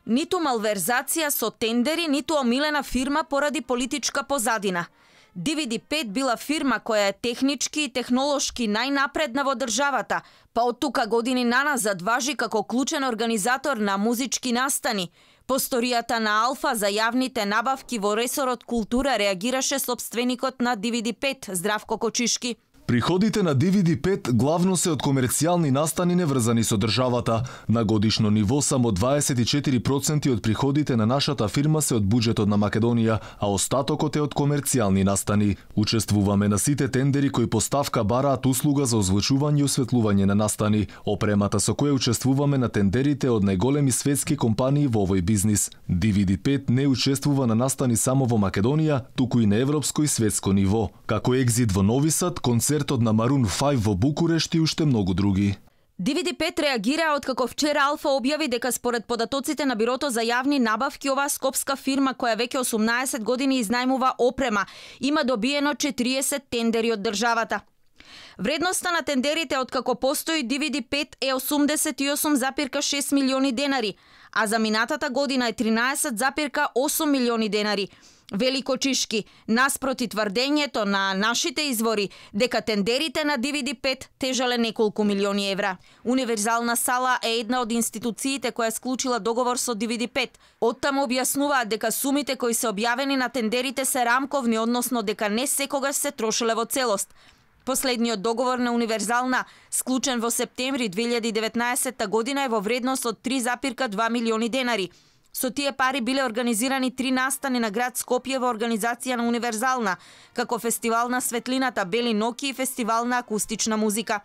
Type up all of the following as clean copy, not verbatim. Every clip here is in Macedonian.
Ниту малверзација со тендери, ниту омилена фирма поради политичка позадина. DVD5 била фирма која е технички и технолошки најнапредна во државата, па од тука години наназад важи како клучен организатор на музички настани. По сторијата на Алфа за јавните набавки во ресорот култура реагираше сопственикот на DVD5, Здравко Кочишки. Приходите на DVD5 главно се од комерцијални настани неврзани со државата. На годишно ниво само 24% од приходите на нашата фирма се од буџетот на Македонија, а остатокот е од комерцијални настани. Учествуваме на сите тендери кои по ставка бараат услуга за озвучување и осветлување на настани. Опремата со која учествуваме на тендерите од најголеми светски компании во овој бизнис. DVD5 не учествува на настани само во Македонија, туку и на европско и светско ниво. Како екзит во Нови Сад, концертот на Maroon 5 во Букурешт и уште многу други. DVD5 реагира откако вчера Алфа објави дека според податоците на Бирото за јавни набавки, оваа скопска фирма која веќе 18 години изнајмува опрема, има добиено 40 тендери од државата. Вредноста на тендерите откако постои DVD5 е 88,6 милиони денари, а за минатата година е 13,8 милиони денари. Вели Кочишки, наспроти тврдењето на нашите извори дека тендерите на DVD5 тежале неколку милиони евра. Универзална сала е една од институциите која склучила договор со DVD5. Оттаму објаснуваат дека сумите кои се објавени на тендерите се рамковни, односно дека не секогаш се трошеле во целост. Последниот договор на Универзална, склучен во септември 2019 година, е во вредност од 3,2 милиони денари. Со тие пари биле организирани 3 настани на град Скопје во организација на Универзална, како фестивал на светлината, бели ноки и фестивал на акустична музика.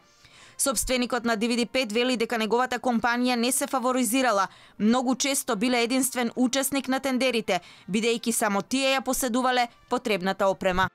Сопственикот на DVD5 вели дека неговата компанија не се фаворизирала, многу често биле единствен учесник на тендерите, бидејќи само тие ја поседувале потребната опрема.